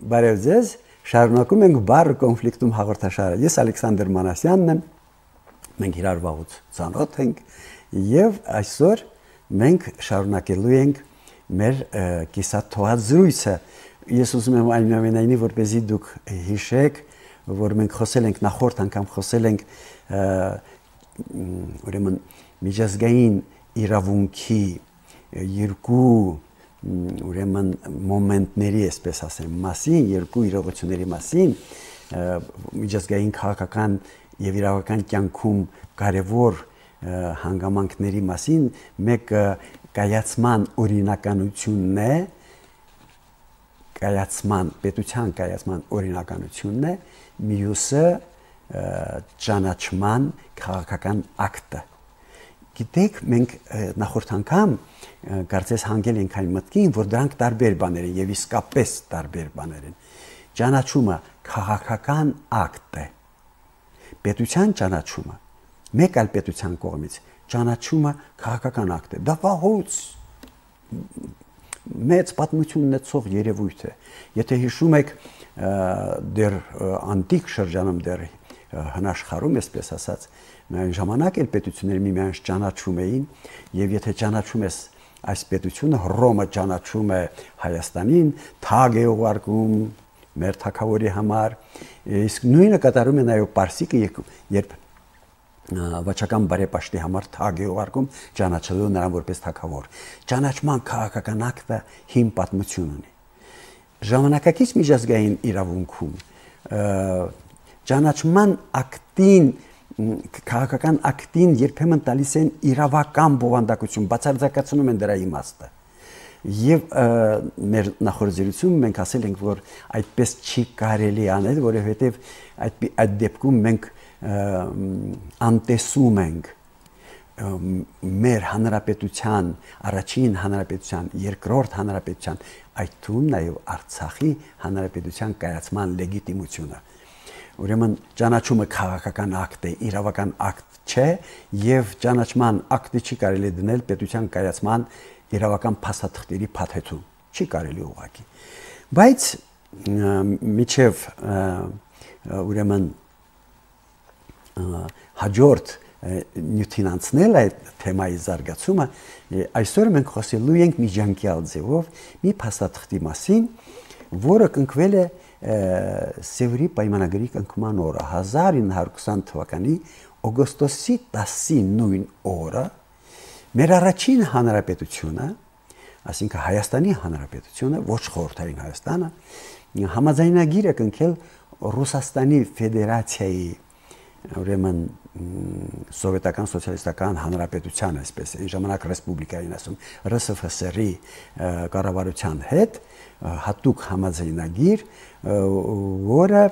բարև ձեզ, շարունակում ենք բառ կոնֆլիկտում հաղորդաշարը։ Ես Ալեքսանդր Մանասյանն եմ, մենք իրար վաղուց ծանոթ ենք եւ այսօր մենք շարունակելու ենք մեր կիսաթոհազրույցը։ Ես ուզում եմ այնուամենայնիվ որպեսզի դուք հիշեք, որ մենք խոսել ենք նախորդ անգամ խոսել ենք ուրեմն միջազգային իրավունքի երկու ուրեմն մոմենտների, այսպես ասեմ, մասին, երկու իրողությունների մասին, միջազգային քաղաքական եւ իրավական կյանքում կարևոր հանգամանքների մասին, մեկը կայացման օրինականությունն է, պետության կայացման օրինականությունն է, մյուսը ճանաչման քաղաքական ակտը։ Գիտեք, մենք նախորդ անգամ կարծես հանգել ենք այն մտքին, որ դրանք տարբեր բաներ են եւ իսկապես տարբեր բաներ են։ Ճանաչումը քաղաքական ակտ է։ Պետության ճանաչումը մեկ այլ պետության կողմից ճանաչումը քաղաքական ակտ է։ Դա վաղուց մեծ պատմություն ունեցող երևույթ է։ Եթե հիշում եք, դեռ անտիկ շրջանում, դեռ հնաշխարհում, այսպես ասած, այն ժամանակ էլ պետությունները միմյանց ճանաչում էին, եւ եթե ճանաչում ես այս պետությունը, Հռոմը ճանաչում է Հայաստանին, թագ է ուղարկում մեր թագավորի համար, իսկ նույնը կատարում է նաեւ Պարսիկը, երբ վաճական բարեպաշտի համար թագ է ուղարկում, ճանաչելու նրան որպես թագավոր։ Ճանաչման քաղաքական ակտը հիմ պատմություն ունի։ Ժամանակակից միջազգային իրավունքում ճանաչման ակտին, քաղաքական ակտին երբեմն տալիս են իրավական բովանդակություն, բացարձակացնում են դրա իմաստը։ Եվ մեր նախորդ մենք ասել ենք, որ այդպես չի կարելի անել, որովհետև այդ դեպքում մենք անտեսում ենք մեր հանրապետության, առաջին հանրապետության, երկրորդ հանրապետության, այդ թվում նաև Արցախի հանրապետության կայացման լեգիտիմությունը։ Ուրեմն ճանաչումը քաղաքական ակտ է, իրավական ակտ չէ, եւ ճանաչման ակտը չի կարելի դնել պետության կայացման իրավական փաստաթղթերի փաթեթում։ Չի կարելի ուղղակի։ Բայց միջև ուրեմն հաջորդ նյութին անցնել այդ թեմայի զարգացումը, այսօր մենք խոսելու ենք միջանկյալ ձևով մի փաստաթղթի մասին, որը կնքվել է Սևրի պայմանագրի կնքման օրը 1920 թվականի օգոստոսի 10-ի նույն օրը մեր առաջին հանրապետությունը, այսինքն Հայաստանի հանրապետությունը, ոչ խորհրդային Հայաստանը, համաձայնագիր է կնքել Ռուսաստանի Ֆեդերացիայի, ուրեմն սովետական սոցիալիստական հանրապետության, այսպես այն ժամանակ ռեսպուբլիկային ասում, ՌՍՖՍՌ-ի կառավարության հետ հատուկ համաձայնագիր, որը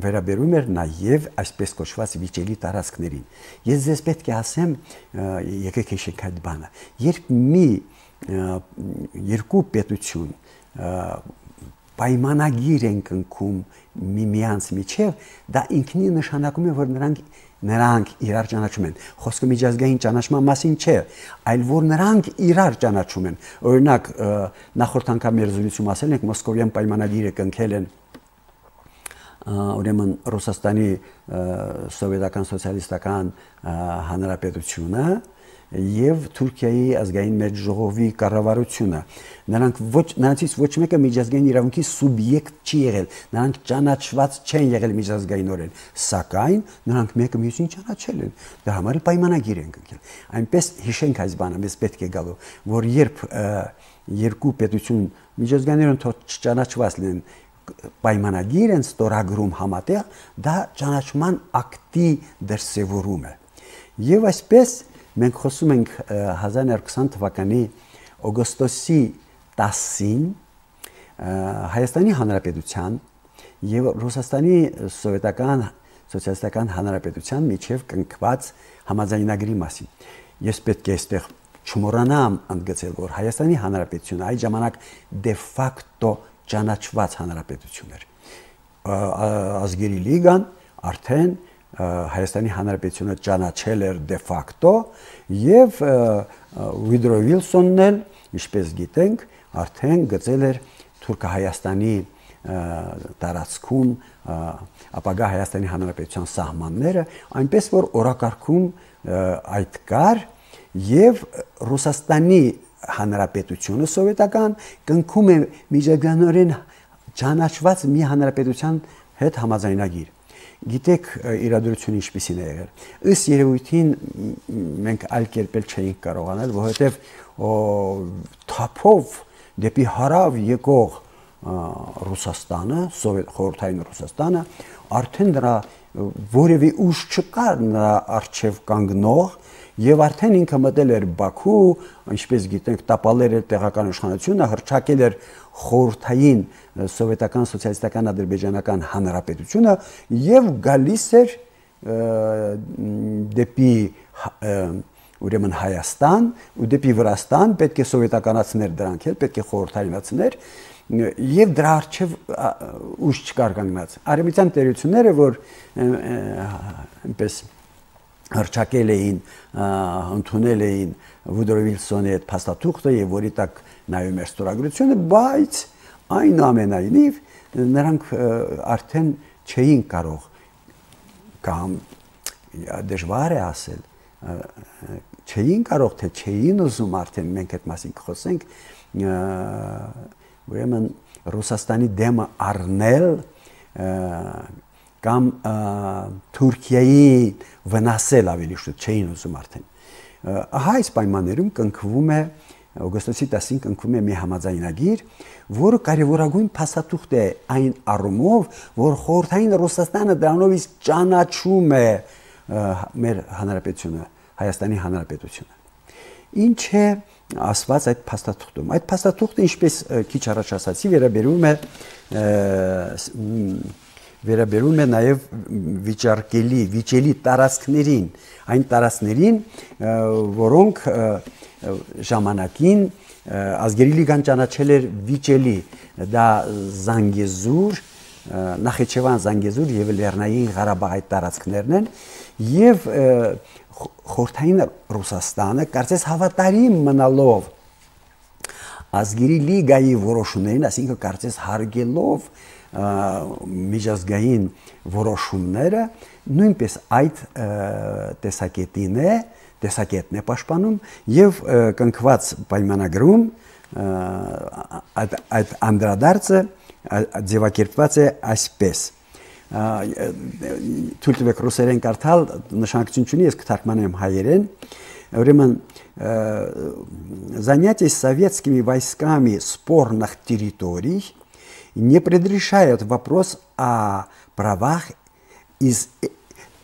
վերաբերում էր նաև այսպես կոչված վիճելի տարածքներին։ Ես ձեզ պետք է ասեմ, եկեք հիշենք այդ բանը, երբ երկու պետություն պայմանագիր են կնքում միմյանց միջև, դա ինքնին նշանակում է, որ նրանք իրար ճանաչում են։ Խոսքը միջազգային ճանաչման մասին չէ, այլ որ նրանք իրար ճանաչում են։ Օրինակ, նախորդ անգամ մեր զրույցում ասել ենք, Մոսկովյան պայմանագիրը կնքել են ուրեմն Ռուսաստանի սովետական սոցիալիստական հանրապետությունը եւ Թուրքիայի ազգային մեծ ժողովի կառավարությունը։ Նրանցից ոչ մեկը միջազգային իրավունքի սուբյեկտ չի եղել, նրանք ճանաչված չեն եղել միջազգայինորեն, սակայն նրանք մեկը մյուսին ճանաչել են, դրա համար պայմանագիր են կնքել։ Այնպես հիշենք այս բանը, մեզ պետք է գալու, որ երբ երկու պետություն միջազգայինորեն չճանաչված լինեն, պայմանագիր են ստորագրում համատեղ, դա ճանաչման ակտի դրսևորում է։ Եվ այսպես մենք խոսում ենք 1920 թվականի օգոստոսի 10-ին Հայաստանի Հանրապետության եւ Ռուսաստանի Սովետական Սոցիալիստական Հանրապետության միջև կնքված համաձայնագրի մասին։ Ես պետք է այստեղ չմոռանամ ընդգծել, որ Հայաստանի Հանրապետությունը այդ ժամանակ դե ֆակտո ճանաչված հանրապետություն էր։ Ազգերի լիգան արդեն Հայաստանի Հանրապետությունը ճանաչել էր դե ֆակտո եւ Վիդրո Վիլսոնն էլ, ինչպես գիտենք, արդեն գծել էր Թուրքահայաստանի տարածքում ապագա Հայաստանի Հանրապետության սահմանները, այնպես որ օրակարգում այդ կար եւ Ռուսաստանի Հանրապետությունը սովետական կնքում է միջազգանորեն ճանաչված մի հանրապետության հետ համաձայնագիր։ Գիտեք իրադրությունը ինչպիսին է եղել։ Ըստ երևույթին մենք այլ կերպել չէինք կարողանալ, որովհետև թափով դեպի հարավ եկող Ռուսաստանը, խորհրդային Ռուսաստանը արդեն դրա որևէ ուժ չկար նրա արչև կանգնող եւ արդեն ինքը մտել էր Բաքու, ինչպես գիտենք, տապալել էր տեղական իշխանությունը, հռչակել էր խորհրդային սովետական սոցիալիստական ադրբեջանական հանրապետությունը եւ գալիս էր դեպի ուրեմն Հայաստան ու դեպի Վրաստան, պետք է սովետականացներ դրանք էլ, պետք է խորհրդայնացներ եւ դրա արչեւ ուժ չկար կանգնած։ Արևմտյան տերությունները, որ այնպես հռչակել էին, ընդունել էին Վուդրո Վիլսոնի այդ փաստաթուղթը եւ որի տակ նայում էր ստորագրությունը, բայց այնուամենայնիվ նրանք արդեն չէին կարող կամ դժվար է ասել, չէին կարող, թե չէին ուզում արդեն մենք այդ մասին կխոսենք, ուրեմն Ռուսաստանի դեմը առնել կամ Թուրքիայի վնասել ավելի շուտ չէին ուզում արդեն։ Ահա այս պայմաններում կնքվում է օգոստոսի 10-ին կնքվում է մի համաձայնագիր, որը կարևորագույն փաստաթուղթ է այն առումով, որ խորհրդային Ռուսաստանը դրանով իսկ ճանաչում է մեր հանրապետությունը, Հայաստանի Հանրապետությունը։ Ինչ է ասված այդ փաստաթուղթում։ Այդ փաստաթուղթը, ինչպես քիչ առաջ ասացի, վերաբերում է նաև վիճելի տարածքներին, այն տարածքներին, որոնք ժամանակին ազգերի լիգան ճանաչել էր վիճելի, դա Զանգեզուր, Նախիջևան, Զանգեզուր եւ Լեռնային Ղարաբաղ այդ տարածքներն են եւ խորհրդային Ռուսաստանը կարծես հավատարիմ մնալով ազգերի լիգայի որոշումներին, այսինքն կարծես հարգելով միջազգային որոշումները, նույնպես այդ տեսակետն է պաշտպանում եւ կնքված պայմանագրում այդ անդրադարձը ձևակերպված է այսպես։ Թույլ տվեք ռուսերեն կարդալ, նշանակություն չունի, ես կթարգմանեմ հայերեն։ Ուրեմն занятие советскими войсками спорных территорий не предрешает вопрос о правах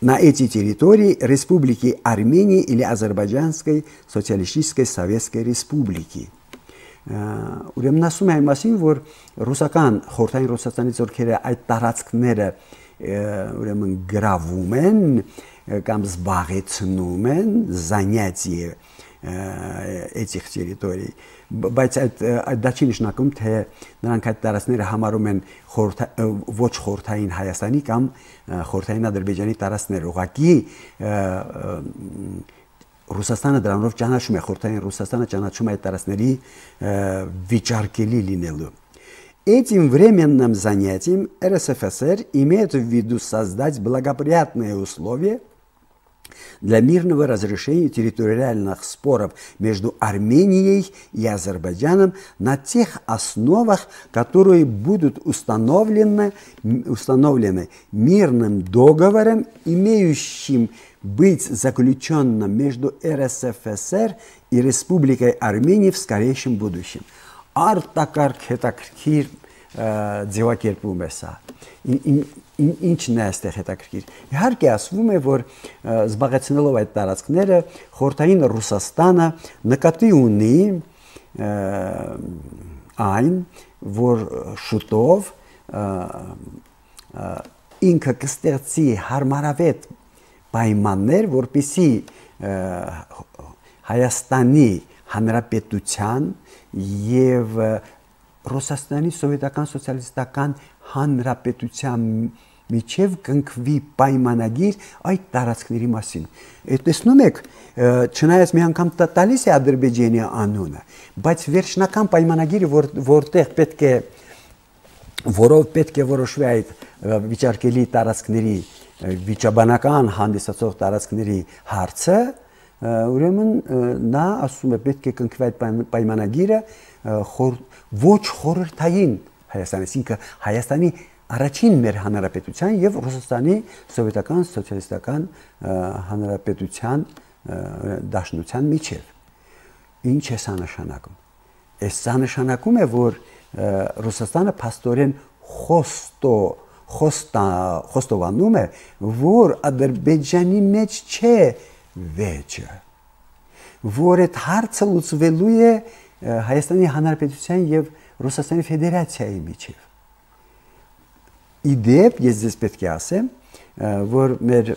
на эти территории Республики Армении или Азербайджанской Социалистической Советской Республики. Ուրեմն ասում է այն մասին, որ ռուսական խորհրդային Ռուսաստանի ծորքերը այդ տարածքները ուրեմն գրավում են կամ զբաղեցնում են занятие этих территорий, բայց դա չի նշանակում, թե նրանք այդ տարածքները համարում են ոչ խորհրդային Հայաստանի կամ խորհրդային Ադրբեջանի տարածքներ, ուղղակի Ռուսաստանը դրանով ճանաչում է, խորհրդային Ռուսաստանը ճանաչում է այդ տարածքների վիճարկելի լինելու։ Этим временным занятием РСФСР имеет в виду создать благоприятные условия для мирного разрешения территориальных споров между Арменией и Азербайджаном на тех основах, которые будут установлены мирным договором, имеющим быть заключенным между РСФСР и Республикой Армения в скорейшем будущем. Արտակարգ հետաքրքիր ձևակերպում է սա։ Ինչն է այստեղ հետաքրքիր։ Իհարկե ասվում է, որ զբաղեցնելով այդ տարածքները խորհրդային Ռուսաստանը նկատի ունի այն, որ շուտով ինքը կստեղծի հարմարավետ պայմաններ, որպեսզի Հայաստանի Հանրապետության եւ Ռուսաստանի սովետական սոցիալիստական հանրապետության միջև կնքվի պայմանագիր այդ տարածքների մասին։ Տեսնում եք, չնայած մի անգամ տալիս է Ադրբեջանի անունը, բայց վերջնական պայմանագիրը, որտեղ պետք է որով պետք է որոշվի այդ վիճարկելի տարածքների վիճաբանական հանդիսացող տարածքների հարցը, ուրեմն նա ասում է պետք է կնքվի այդ պայմանագիրը ոչ խորհրդային Հայաստանի, ինքը Հայաստանի առաջին մեր հանրապետության եւ Ռուսաստանի սովետական սոցիալիստական հանրապետության դաշնության միջև։ Ինչ է սա նշանակում։ Սա նշանակում է, որ Ռուսաստանը փաստորեն խոստովանում է, որ Ադրբեջանի մեջ չէ վեճը, որ այդ հարցը լուծվելու է Հայաստանի Հանրապետության եւ Ռուսաստանի Ֆեդերացիայի միջև։ Իդեպ ես ձեզ պետք է ասեմ, որ մեր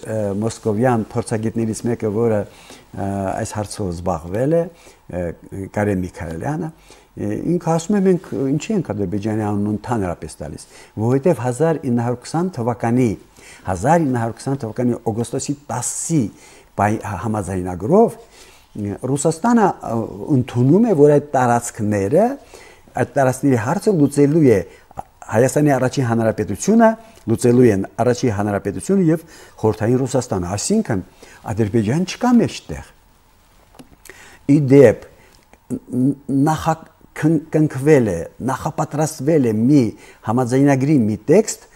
մոսկովյան փորձագետներից մեկը, որը այս հարցով զբաղվել է, Կարեն Միքայելյանը, ինքը ասում է մենք ինչի ենք Ադրբեջանի անուն ընդհանրապես տալիս, որովհետև 1920 թվականի օգոստոսի 10-ի համաձայնագրով Ռուսաստանը ընդունում է, որ այդ տարածքների հարցը լուծելու է Հայաստանի առաջին հանրապետությունը, լուծելու են առաջին հանրապետությունը եւ խորհրդային Ռուսաստանը, այսինքն Ադրբեջան չկա մեջտեղ։ Իդեպ նախակնքվել է, նախապատրաստվել է մի համաձայնագրի մի տեքստ,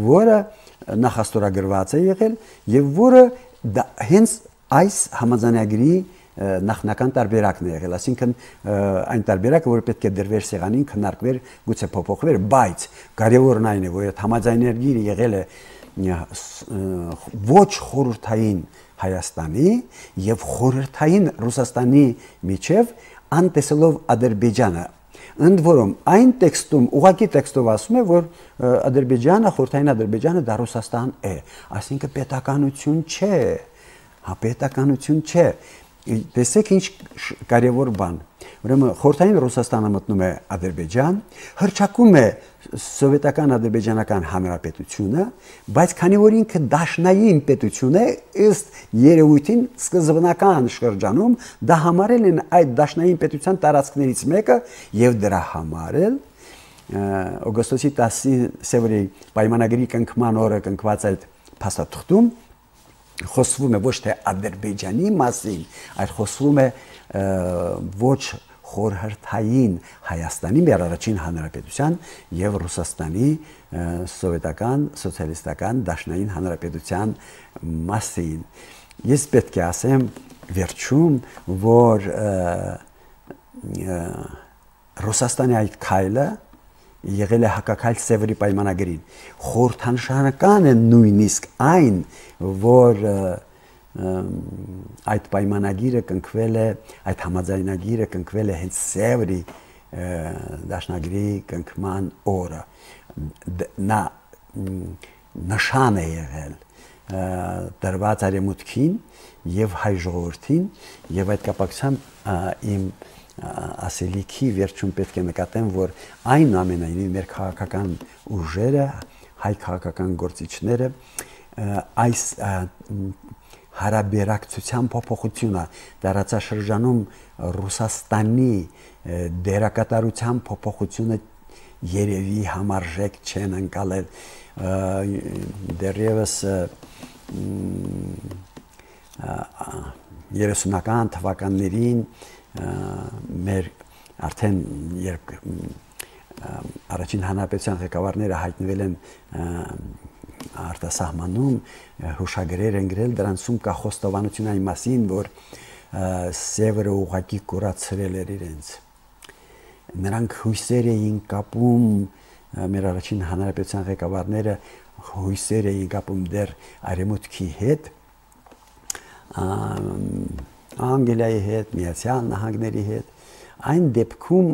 որը նախաստորագրված է եղել եւ որը հենց այս համաձայնագրի նախնական տարբերակն է եղել, այսինքն այն տարբերակը, որը պետք է դրվեր սեղանին, քննարկվեր, գուցե փոփոխվեր, բայց կարևորն այն է, որ այդ համաձայնագիրը եղել է ոչ խորհրդային Հայաստանի եւ խորհրդային Ռուսաստանի միջև անտեսելով Ադրբեջանը։ Ընդ որում այն տեքստում, ուղղակի տեքստով ասում է, որ Ադրբեջանը, խորհրդային Ադրբեջանը դա Ռուսաստան է, այսինքն պետականություն չէ, պետականություն չէ։ Տեսեք ինչ կարևոր բան։ Ուրեմն խորհրդային Ռուսաստանը մտնում է Ադրբեջան, հռչակում է սովետական ադրբեջանական հանրապետությունը, բայց քանի որ ինքը դաշնային պետություն է, ըստ երևույթին սկզբնական շրջանում դա համարել են այդ դաշնային պետության տարածքներից մեկը եւ դրա համար էլ օգոստոսի 10-ի Սևրի պայմանագրի կնքման օրը կնքված այդ փաստաթղթում խոսվում է ոչ թե Ադրբեջանի մասին, այլ խոսվում է ոչ խորհրդային Հայաստանի մեր առաջին հանրապետության եւ Ռուսաստանի սովետական սոցիալիստական դաշնային հանրապետության մասին։ Ես պետք է ասեմ վերջում, որ Ռուսաստանի այդ քայլը եղել է հակակայլ Սևրի պայմանագրին։ Խորհրդանշական է նույնիսկ այն, որ այդ պայմանագիրը կնքվել է, այդ համաձայնագիրը կնքվել է հենց Սևրի դաշնագրի կնքման օրը։ Նա նշան է եղել դրված արևմուտքին եւ հայ ժողովրդին եւ այդ կապակցությամբ իմ ասելիքի վերջում պետք է նկատեմ, որ այնուամենայնիվ մեր քաղաքական ուժերը, հայ քաղաքական գործիչները այս հարաբերակցության փոփոխությունը դարաշրջանում Ռուսաստանի դերակատարության փոփոխությունը երևի համարժեք չեն ընկալել դեռևս 30-ական թվականներին մեր արդեն երբ առաջին հանրապետության ղեկավարները հայտնվել են արտասահմանում, հուշագրեր են գրել, դրանցում կա խոստովանություն այն մասին, որ Սևրը ուղղակի կուրացրել էր իրենց։ Նրանք հույսեր էին կապում, մեր առաջին հանրապետության ղեկավարները հույսեր էին կապում դեռ արևմուտքի հետ, Անգլիայի հետ, Միացյալ Նահանգների հետ, այն դեպքում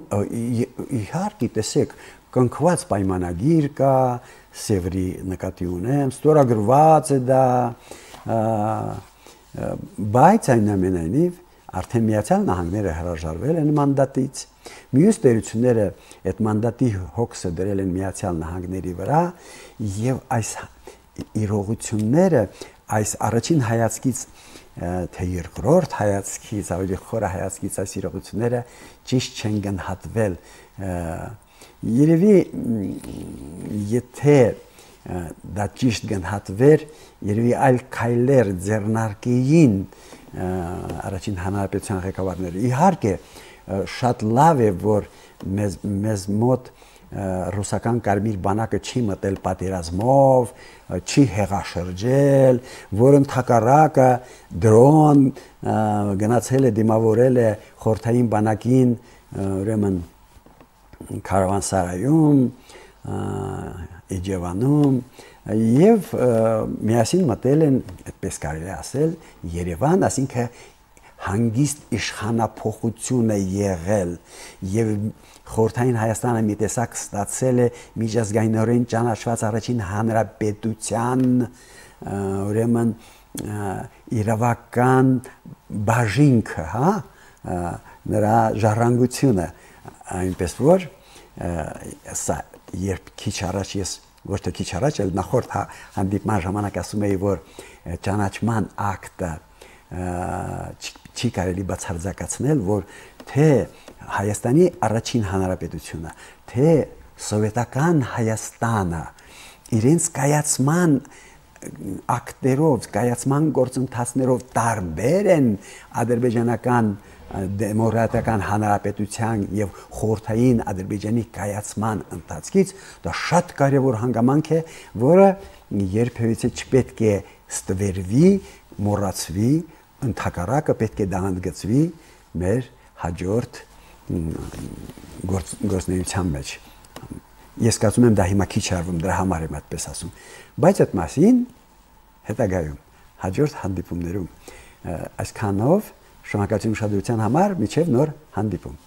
իհարկե տեսեք կնքված պայմանագիր կա, Սևրի նկատի ունեմ, ստորագրված է դա, բայց այնուամենայնիվ արդեն Միացյալ Նահանգները հրաժարվել են մանդատից, մյուս տերությունները այդ մանդատի հոգսը դրել են Միացյալ Նահանգների վրա եւ այս իրողությունները այս առաջին հայացքից թե երկրորդ հայացքից ավելի խորը հայացքից այս իրողությունները ճիշտ չեն գնահատվել երևի եթե դա ճիշտ գնահատվեր, երևի այլ քայլեր ձեռնարկեին առաջին հանրապետության ղեկավարները։ Իհարկե շատ լավ է, որ մեզ մոտ ռուսական կարմիր բանակը չի մտել պատերազմով, չի հեղաշրջել, որ ընդհակառակը դրոն գնացել է դիմավորել է խորհրդային բանակին, ուրեմն Քարավանսարայում, Իջևանում եւ միասին մտել են, այդպես կարելի ասել, Երևան, ասինքն հանգիստ իշխանափոխություն է եղել եւ խորհրդային Հայաստանը մի տեսակ ստացել է միջազգայինորեն ճանաչված առաջին հանրապետության ուրեմն իրավական բաժինքը, հա, նրա ժառանգությունը, այնպես որ սա երբ քիչ առաջ ես ոչ թե քիչ առաջ, այլ նախորդ հանդիպման ժամանակ ասում էի, որ ճանաչման ակտը չի կարելի բացարձակացնել, որ թե Հայաստանի առաջին հանրապետությունը, թե սովետական Հայաստանը իրենց կայացման ակտերով, կայացման գործընթացներով տարբեր են ադրբեջանական դեմոկրատական հանրապետության եւ խորհրդային Ադրբեջանի կայացման ընթացքից, դա շատ կարևոր հանգամանք է, որը երբևիցե չպետք է ստվերվի, մոռացվի, ընդհակառակը պետք է դա ընդգծվի մեր հաջորդ գործունեության մեջ։ Ես կարծում եմ դա հիմա քիչ արվում, դրա համար եմ այդպես ասում, բայց այդ մասին հետագայում հաջորդ հանդիպումներում այսքանով շնորհակալություն ուշադրության համար, մինչև նոր հանդիպում։